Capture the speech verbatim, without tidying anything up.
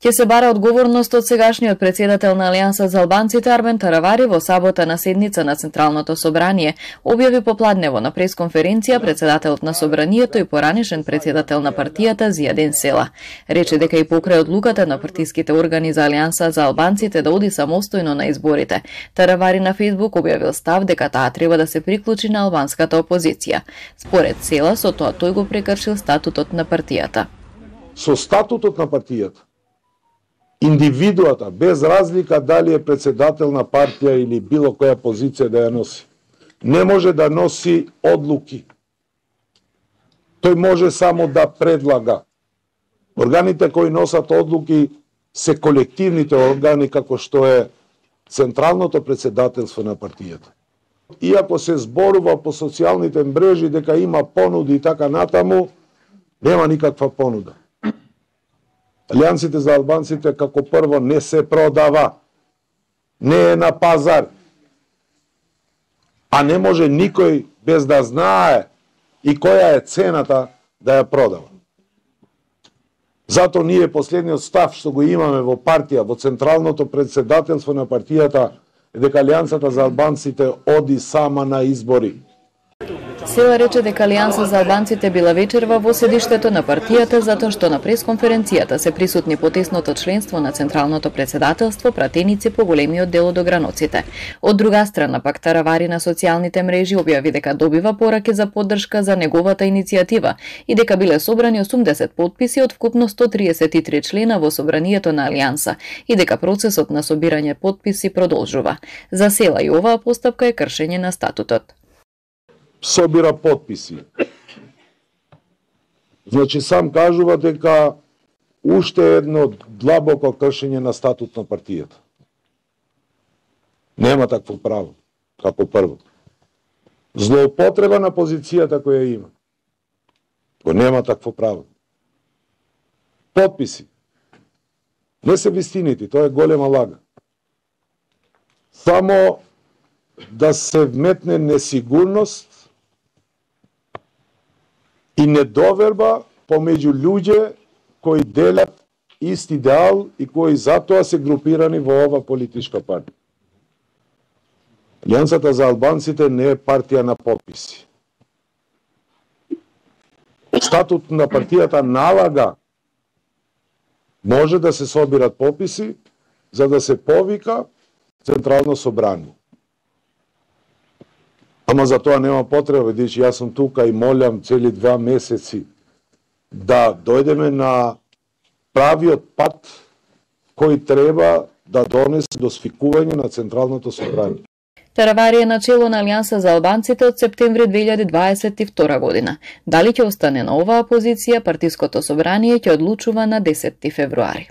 Ќе се бара одговорност од сегашниот председател на Алијанса за албанците Армен Таравари во сабота на седница на Централното собрание, објави попладнево на пресконференција председателот на собранието и поранешен председател на партијата Зијадин Села. Рече дека и покрај одлуката на партиските органи за Алијанса за албанците да оди самостојно на изборите, Таравари на Фејсбук објавил став дека таа треба да се приклучи на албанската опозиција. Според Села, со тоа тој го прекршил статутот на партијата. Со статутот на партијата, индивидуата, без разлика дали е председател на партија или било која позиција да ја носи, не може да носи одлуки. Тој може само да предлага. Органите кои носат одлуки се колективните органи, како што е Централното председателство на партијата. Иако се зборува по социјалните мрежи дека има понуди и така натаму, нема никаква понуда. Алијансите за албанците како прво не се продава, не е на пазар, а не може никој без да знае и која е цената да ја продава. Зато ние последниот став што го имаме во партија, во Централното председателство на партијата, е дека Алијансата за албанците оди сама на избори. Села рече дека Алијанса за албанците била вечерва во седиштето на партијата затоа што на пресконференцијата се присутни потесното членство на Централното председателство, пратеници по големиот дел од ограноците. Од друга страна пак Таравари на социјалните мрежи објави дека добива пораки за поддршка за неговата иницијатива и дека биле собрани осумдесет потписи од вкупно сто триесет и три члена во собранието на Алијанса и дека процесот на собирање потписи продолжува. За Села и оваа постапка е кршење на статутот. Собира потписи. Значи сам кажува дека уште едно длабоко кршење на статут на партијата. Нема такво право, како прво. Злоупотреба на позицијата која има. Го нема такво право. Потписи. Не се вистините, тоа е голема лага. Само да се вметне несигурност и недоверба помеѓу луѓе кои делат ист идеал и кои затоа се групирани во ова политичка партија. Алијансата за албанците не е партија на потписи. Статут на партијата налага може да се собират потписи за да се повика Централно собрание. Ама за тоа нема потреба, бидејќи јас сум тука и молам цели два месеци да дојдеме на правиот пат кој треба да донесе до свикување на Централното собрание. Таравари е начело на Алијанса за албанците од септември две илјади дваесет и втора година. Дали ќе остане на оваа позиција, партиското собрание ќе одлучува на десетти февруари.